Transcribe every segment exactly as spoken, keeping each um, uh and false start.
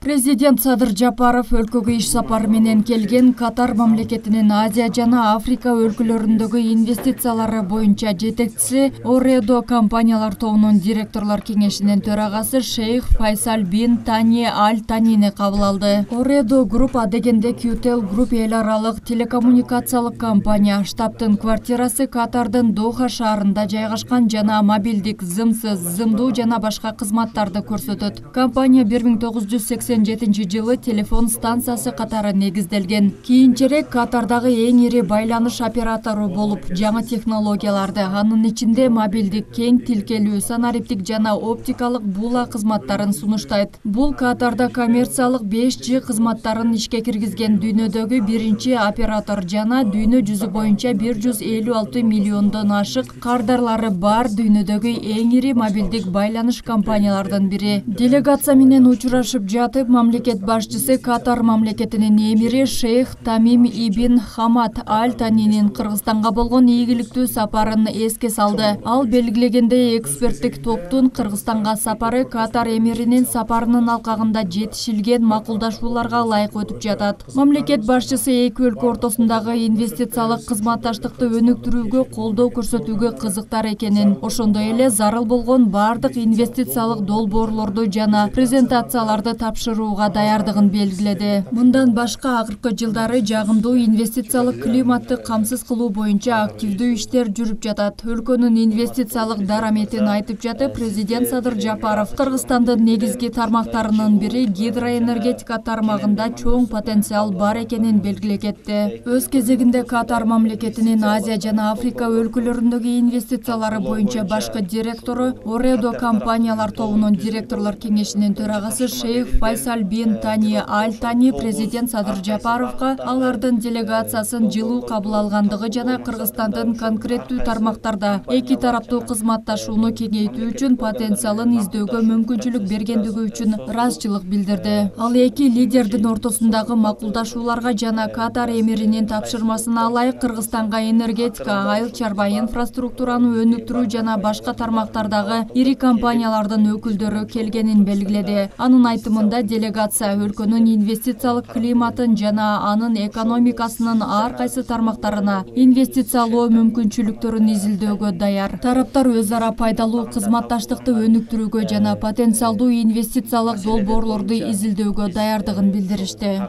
Президент Садыр Жапаров өлкөгө иш сапары менен келген Катар мамлекетинин Азия жана Африка өлкөлөрүндөгү инвестициялары боюнча жетекчиси Оредо компаниялар тобунун директорлор кеңешинин төрагасы Шейх Файсал бин Тани Аль Танини кабыл алды. Оредо Group адегенде Qtel Group эл аралык телекоммуникациялык компания, штабтын квартирасы Катардын Доха шаарында жайгашкан жана мобилдик, зымсыз, зымдуу жана башка кызматтарды көрсөтөт. Компания бир миң тогуз жүз сексен жетинчи жылы телефон станциясы катары негизделген. Кийинчерээк Катардагы эң ири байланыш оператору болуп, жаңы технологияларды, анын ичинде мобилдик, кең тилкелүү, санариптик жана оптикалык була кызматтарын сунуштайт. Бул Катарда коммерциялык беш джи кызматтарын ишке киргизген дүйнөдөгү биринчи оператор жана дүйнө жүзү боюнча бир жүз элүү алты миллиондон ашык кардарлары бар дүйнөдөгү эң ири мобилдик байланыш компаниялардын бири. Делегация менен учурашып жатып, мамлекет башчысы Катар мамлекетинин эмири Шейх Тамим ибн Хамад Аль Танинин Кыргызстанга болгон ийгиликтүү сапарын эске салды. Ал белгилегендей, эксперттик топтун Кыргызстанга сапары Катар эмиринин сапарынын алкагында жетишилген макулдашууларга ылайык өтүп жатат. Мамлекет башчысы эки өлкө ортосундагы инвестициялык кызматташтыкты өнүктүрүүгө колдоо көрсөтүүгө кызыктар экенин, ошондой эле зарыл болгон бардык инвестициялык долбоорлорду жана презентацияларды тапшырууга даярдыгын белгиледи. Мындан башка акыркы жылдары жагымдуу инвестициялык климатты камсыз кылуу боюнча активдүү иштер жүрүп жатат. Өлкөнүн инвестициялык дараметин айтып жатып, президент Садыр Жапаров Кыргызстандын негизги тармактарынын бири гидроэнергетика тармагында чоң потенциал бар экенин белгилей кетти. Өз кезегинде Катар мамлекетинин Азия жана Африка өлкөлөрүндөгү инвестициялары боюнча башкы директору, Оредо компаниялар тобунун директорлор кеңешинин төрагасы Шейх Файсал бин Тани Аль Тани президент Садыр Жапаровго алардын делегациясын жылуу кабыл алгандыгы жана Кыргызстандын конкреттүү тармактарда эки тараптуу кызматташууну кеңейтүү үчүн потенциалын издөөгө мүмкүнчүлүк бергендиги үчүн ыраазычылык билдирди. Ал эки лидердин ортосундагы макулдашууларга жана Катар эмиринин тапшырмасына ылайык Кыргызстанга энергетика, айыл чарба инфраструктураны өнүктүрүү жана башка тармактардагы ири компаниялардын өкүлдөрү келгенин белгиледи. Анын айтымында, делегация өлкөнүн инвестициялык климатын жана анын экономикасынын ар кайсы тармактарына инвестициялоо мүмкүнчүлүктөрүн изилдөөгө даяр. Тараптар өз ара пайдалуу кызматташтыкты өнүктүрүүгө жана потенциалдуу инвестициялык долбоорлорду изилдөөгө даярдыгын билдиришти.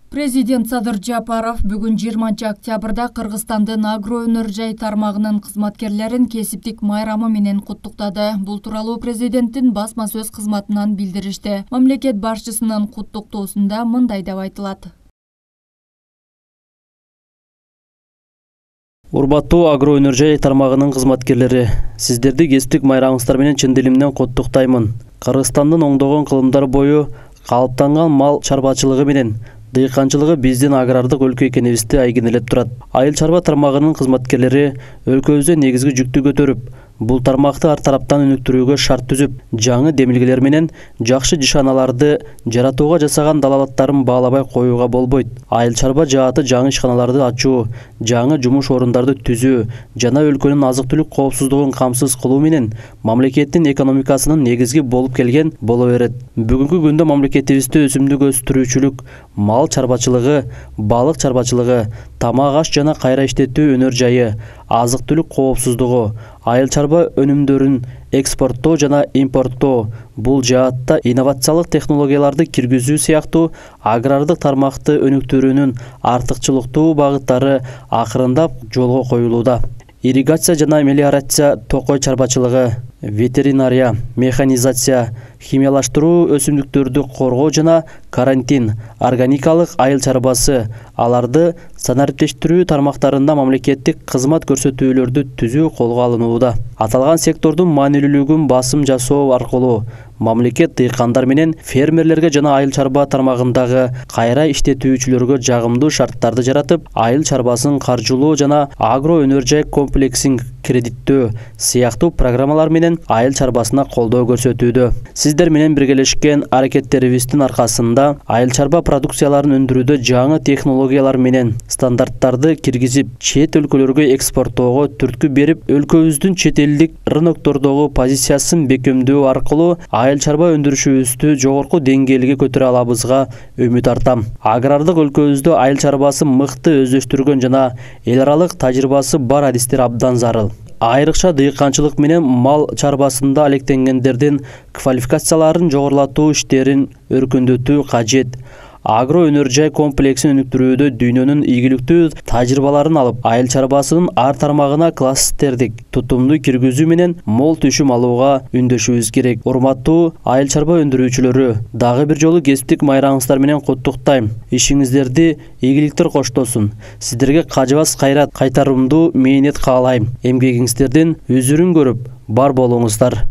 Президент Садыр Жапаров бүгүн жыйырманчы октябрда Кыргызстандын агро өнөр жай тармагынын кызматкерлерин кесиптик майрамы менен куттуктады. Бул тууралуу президенттин басма сөз кызматынан билдиришти. Мамлекет башчысынын куттуктоосунда мындай деп айтылат. Урматтуу агро өнөр жай тармагынын кызматкерлери, сиздерди кесиптик майрамыңыздар менен чын диlimden куттуктаймын. Кыргызстандын оңдогон кылымдар бою калыптанган мал чарбачылыгы менен дыйканчылыгы биздин агрардык өлкө экенибизди айгинелеп турат. Айыл чарба тармагынын кызматкерлери өлкөбүздө негизги жүктү көтөрүп, бул тармакты ар тараптан өнүктүрүүгө шарт түзүп, жаңы демилгелер менен жакшы жишаналарды жаратууга жасаган далалаттарын баалабай коюуга болбойт. Айыл чарба жааты жаңы ишканаларды ачуу, жаңы жумуш орундарды түзүү жана өлкөнүн азык-түлүк коопсуздугун камсыз кылуу менен мамлекеттин экономикасынын негизги болуп келген боло берет. Бүгүнкү күндө мамлекетибизде өсүмдүк өстүрүүчүлүк, мал чарбачылыгы, балык чарбачылыгы, тамак аш жана кайра иштетүү өнөр жайы, азык-түлүк коопсуздугу, айыл чарба өнүмдөрүн экспорттоо жана импорттоо, бул жаатта инновациялык технологияларды киргизүү сыяктуу агрардык тармакты өнүктүрүүнүн артыкчылыктуу багыттары акырындап жолго коюлууда. Ирригация жана мелиорация, токой чарбачылыгы, ветеринария, механизация, химиялаштыруу, өсүмдүктөрдү коргоо жана карантин, органикалык айыл чарбасы, аларды санариптештирүү тармактарында мамлекеттик кызмат көрсөтүүлөрдү түзүү колго алынууда. Аталган сектордун маанилүүлүгүн басым жасоо аркылуу мамлекет дыйкандар менен фермерлерге жана айыл чарба тармагындагы кайра иштетүүчүлөргө жагымдуу шарттарды жаратып, айыл чарбасын каржылоо жана агро өнөр жай комплексин кредиттөө сыяктуу программалар менен айыл чарбасына колдоо көрсөтүүдө. Сиздер менен биргелешкен аракеттерибиздин аркасында айыл чарба продукцияларын өндүрүүдө жаңы технологиялар менен стандарттарды киргизип, чет өлкөлөргө экспорттоого түрткү берип, өлкөбүздүн чет элдик рыноктордогу позициясын бекемдөө аркылуу айыл чарба өндүрүшүбүздү жогорку деңгээлге көтөрө алабызга үмүт артам. Агрардык өлкөбүздө айыл чарбасын мыкты өздөштүргөн жана эл аралык тажрыйбасы бар адистер абдан зарыл. Айрыкча дыйканчылык менен мал чарбасында алектенгендердин квалификацияларын жогорулатуу иштерин өркүндөтүү кажет. Агро өнөр жай комплексин өнүктүрүүдө дүйнөнүн ийгиликтүү тажрыйбаларын алып, айыл чарбасынын ар тармагына кластердик тутумду киргизүү менен мол түшүм алууга үндөшүбүз керек. Урматтуу айыл чарба өндүрүүчүлөрү, дагы бир жолу кесиптик майраңыңыздар менен куттуктайм. Ишиңиздерди ийгиликтер коштосун. Сиздерге кажыбас кайрат, кайтарымдуу мээнет каалайм. Эмгегиңиздердин үзүрүн көрүп, бар болуңуздар.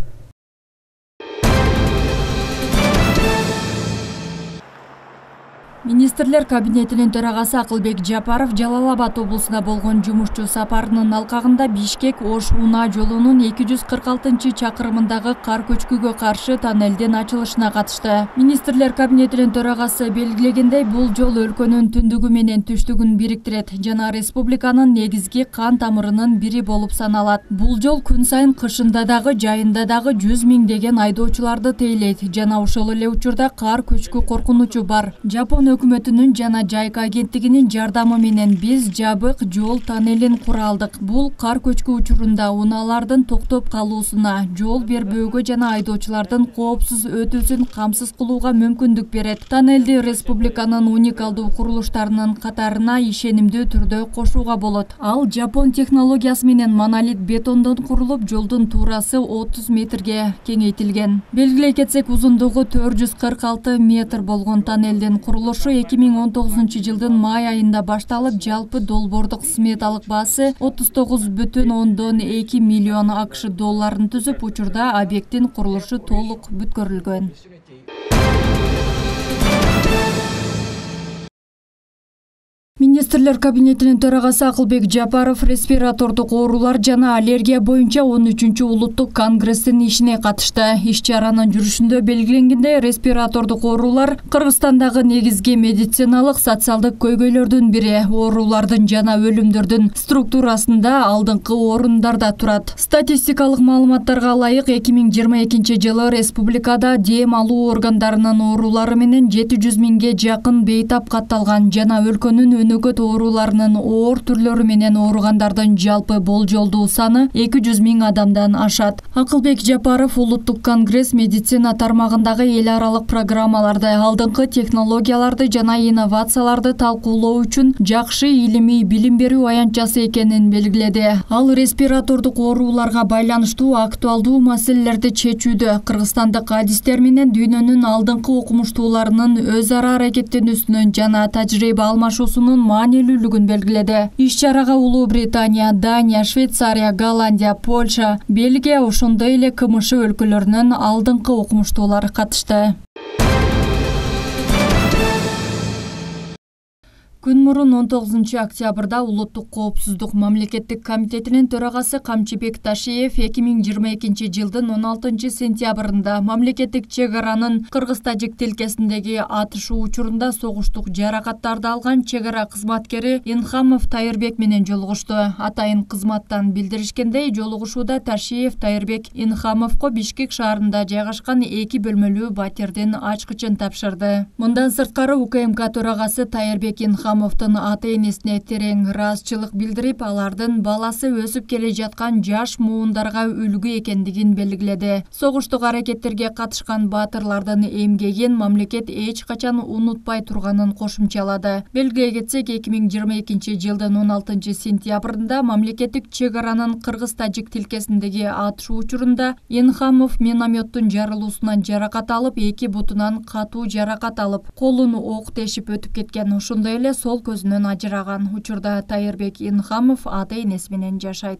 Министрлер кабинетинин төрагасы Акылбек Жапаров Жалал Абад облусуна болгон жумушчу сапарынын алкагында Бишкек Ош Унаа жолунун эки жүз кырк алтынчы чакырымындагы кар көчкүгө каршы тоннелдин ачылышына катышты. Министрлер кабинетинин төрагасы белгилегендей, бул жол өлкөнүн түндүгү менен түштүгүн бириктирет жана республиканын негизги кан тамырынын бири болуп саналат. Бул жол күн сайын кышында дагы, жайында дагы жүз миңдеген айдоочуларды тейлейт жана ошол эле учурда кар көчкү коркунучу бар. Жапон өкмөтүнүн жана Жайка агенттигинин жардамы менен биз жабык жол тоннелин кура алдык. Бул кар көчкү учурунда унаалардын токтоп калуусуна, жол бербөөгө жана айдоочулардын коопсуз өтүүсүн камсыз кылууга мүмкүндүк берет. Тоннелди республиканын уникалдуу курулуштарынын катарына ишенимдүү түрдө кошууга болот. Ал Жапон технологиясы менен монолит бетондон курулуп, жолдун туурасы отуз метрге кеңейтилген. Белгилей кетсек, узундугу төрт жүз кырк алты метр болгон тоннелдин курулушу эки миң он тогузунчу жылдын май айында башталып, жалпы долбоордук сметалык баасы отуз тогуз бүтүн ондон эки миллион АКШ долларын түзүп, учурда объекттин курулушу толук бүткөрүлгөн. Министрлер кабинетинин төрагасы Акылбек Жапаров респиратордук оорулар жана аллергия боюнча он үчүнчү улуттук конгресстин ишине катышты. Иш-чаранын жүрүшүндө белгиленгендей, респиратордук оорулар Кыргызстандагы негизги медициналык социалдык көйгөйлөрдүн бири. Оорулардын жана өлүмдөрдүн структурасында алдыңкы орундарда турат. Статистикалык маалыматтарга ылайык, эки миң жыйырма экинчи жылы республикада дем алуу органдарынын оорулары менен жети жүз миңге жакын бейтап катталган жана өлкөнүн өнөкөт ооруларынын оор түрлөрү менен ооругандардын жалпы болжолдуу саны эки жүз миң адамдан ашат. Акылбек Жапаров улуттук конгресс медицина тармагындагы эл аралык программаларды, алдыңкы технологияларды жана инновацияларды талкуулоо үчүн жакшы илимий билим берүү аянтчасы экенин белгиледи. Ал респиратордук ооруларга байланыштуу актуалдуу маселелерди чечүүдө кыргызстандык адистер менен дүйнөнүн алдыңкы окумуштууларынын өз ара аракеттенүүсүнүн жана тажрыйба алмашуусунун маанилүүлүгүн белгиледи. Иш-чарага Улуу Британия, Дания, Швейцария, Голландия, Польша, Бельгия, ошондой эле КМШ өлкөлөрүнүн алдыңкы окумуштуулары катышты. Күн мурун он тогузунчу октябрда Улуттук коопсуздук мамлекеттик комитетинин төрагасы Камчыбек Ташиев эки миң жыйырма экинчи жылдын он алтынчы сентябрында мамлекеттик чек аранын кыргыз-тажик тилкесиндеги атышуу учурунда согуштук жаракаттарды алган чек ара кызматкери Инхамов Тайырбек менен жолугушту. Атайын кызматтан билдиришкендей, жолугушууда Ташиев Тайырбек Инхамовго Бишкек шаарында жайгашкан эки бөлмөлүү батирдин ачкычын тапшырды. Мындан сырткары УКМК төрагасы Тайырбек Инхамов ата-энесине терең ыраазычылык билдирип, алардын баласы өсүп келе жаткан жаш муундарга үлгү экендигин белгиледи. Согуштук аракеттерге катышкан баатырлардын эмгегин мамлекет эч качан унутпай турганын кошумчалады. Белгилей кетсек, эки миң жыйырма экинчи жылдын он алтынчы сентябрында мамлекеттик чек аранын кыргыз-тажик тилкесиндеги атышуу учурунда Инхамов минометтун жарылуусунан жаракат алып, эки бутунан катуу жаракат алып, колун ок тешип өтүп кеткен. Ошондой эле сол көзүнөн ажыраган. Учурда Тайырбек Инхамов ата-энеси менен жашайт.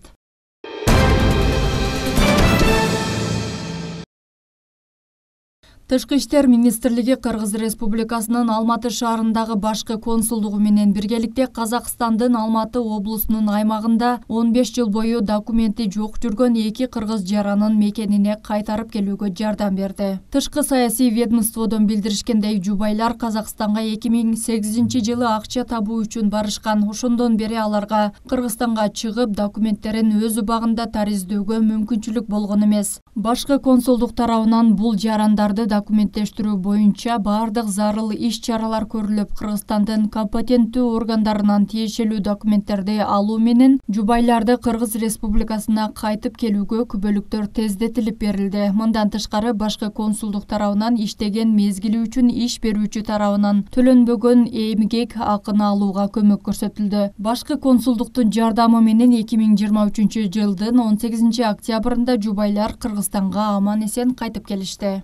Тышкы иштер министрлиги Кыргыз Республикасынын Алматы шаарындагы башкы консулдугу менен биргеликте Казакстандын Алматы облусунун аймагында он беш жыл бою документи жок жүргөн эки кыргыз жаранын мекенине кайтарып келүүгө жардам берди. Тышкы саясий ведомстводон билдиришкендей, жубайлар Казакстанга эки миң сегизинчи жылы акча табуу үчүн барышкан. Ошондон бери аларга Кыргызстанга чыгып, документтерин өз убагында тариздөөгө мүмкүнчүлүк болгон эмес. Башкы консулдук тарабынан бул жарандарды документтештирүү боюнча бардык зарыл иш-чаралар көрүлүп, Кыргызстандын компетенттүү органдарынан тиешелүү документтерди алуу менен жубайларды Кыргыз Республикасына кайтып келүүгө күбөлүктөр тездетилип берилди. Мындан тышкары, башкы консулдук тарабынан иштеген мезгили үчүн иш берүүчү тарабынан төлөнбөгөн эмгек акын алууга көмөк көрсөтүлдү. Башкы консулдуктун жардамы менен эки миң жыйырма үчүнчү жылдын он сегизинчи октябрында жубайлар Кыргызстанга аман эсен кайтып келишти.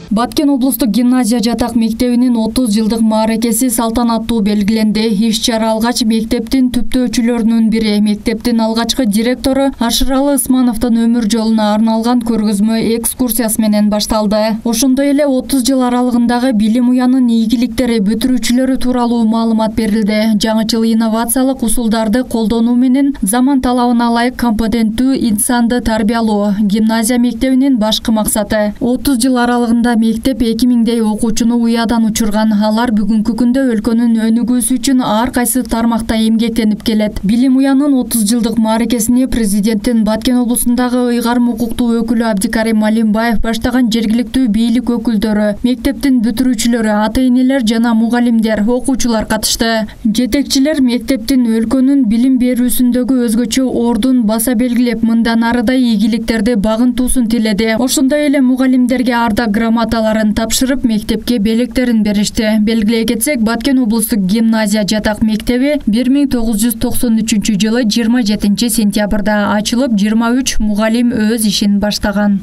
Баткен облустук гимназия жатак мектебинин отуз жылдык мааракеси салтанаттуу белгиленди. Иш-чара алгач мектептин түптөөчүлөрүнүн бири, мектептин алгачкы директору Ашыралы Ысмановдун өмүр жолуна арналган көргөзмө экскурсиясы менен башталды. Ошондой эле отуз жыл аралыгындагы билим уянын ийгиликтери, бүтүрүүчүлөрү тууралуу маалымат берилди. Жаңычыл инновациялык усулдарды колдонуу менен заман талабына ылайык компетенттүү инсанды тарбиялоо гимназия мектебинин башкы максаты. отуз жыл аралыгында мектеп эки миңдей окуучуну уядан учурган. Алар бүгүнкү күндө өлкөнүн өнүгүүсү үчүн ар кайсы тармакта эмгектенип келет. Билим уянын отуз жылдык мааракесине президенттин Баткен облусундагы ыйгарым укуктуу өкүлү Абдикарим Малимбаев баштаган жергиликтүү бийлик өкүлдөрү, мектептин бүтүрүүчүлөрү, ата-энелер жана мугалимдер, окуучулар катышты. Жетекчилер мектептин өлкөнүн билим берүүсүндөгү өзгөчө ордун баса белгилеп, мындан арыдай ийгиликтерди багынтуусун тиледи. Ошондой эле мугалимдерге ардак грамоталарын тапшырып, мектепке белектерин беришти. Белгилей кетсек, Баткен облустук гимназия жатак мектеби бир миң тогуз жүз токсон үчүнчү жылы жыйырма жетинчи сентябрда ачылып, жыйырма үч мугалим өз ишин баштаган.